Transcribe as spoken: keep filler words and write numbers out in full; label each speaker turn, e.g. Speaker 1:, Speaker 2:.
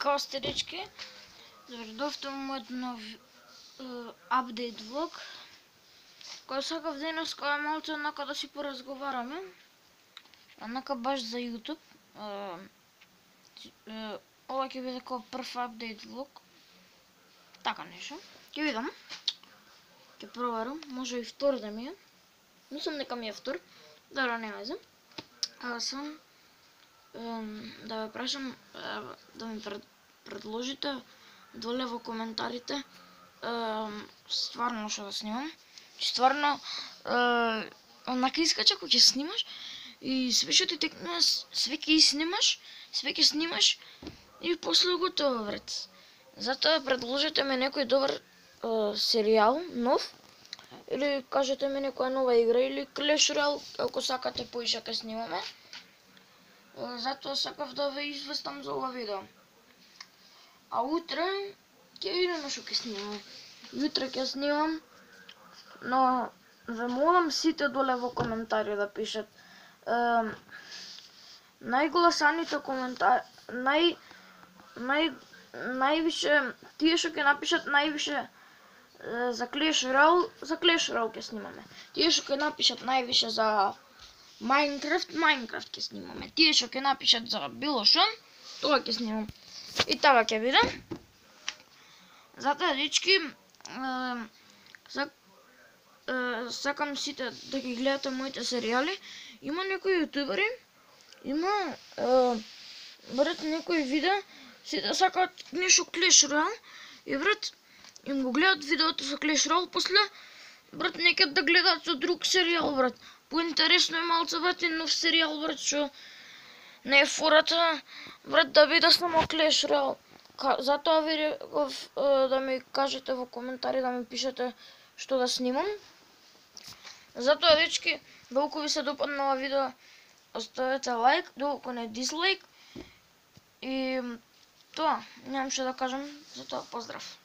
Speaker 1: Како сте, дечки? Добредовте во мојот нов апдейт влог, кој сакав денес кој е малце однака да си поразговараме, однака баш за YouTube. Ова ќе биде како прв апдейт влог, така нешто. Ќе видам, ќе проверам, може и втор да ми е. Мислам дека ми е втор, добро, нема везе. А сам да ве прашам да ми предложите доле во коментарите стварно што да снимам. Стварно однака искача кога ќе снимаш и све што ти текне, све ќе снимаш, све ќе снимаш и после готово, брат. Затоа предложете ми некој добар серијал, нов, или кажете ми некоја нова игра, или Clash Royale, ако сакате поише ќе снимаме. Затоа сакав да ве известам за ова видео. А утре ќе видиме што ќе снимаме. Утре ќе снимам, но ве молам сите доле во коментари да пишат е, најгласаните коментари, нај нај највише тие што ќе напишат највише е, за Clash Royale, за Clash Royale ќе снимаме. Тие што ќе напишат највише за Minecraft, Minecraft ќе снимаме. Тие што ќе напишат за било што, тоа ќе снимам. И така ќе биде. Затоа, дечки, сакам сите да ги гледате моите серијали. Има некои јутубери, има брат некои видеа, сите сакаат нешто Clash Royale и брат им го гледат видеото со Clash Royale, после брат некад да гледаат со друг серијал, брат. Поинтересно е малце, брат, и нов серијал, брат, што не е фората, брат, да биде само Clash Royale. Затоа ви реков да ми кажете во коментари, да ми пишете што да снимам. Затоа, дечки, доколку ви се допадна ова видео, оставете лайк, доколку не дизлайк. И тоа, немам што да кажам, затоа поздрав.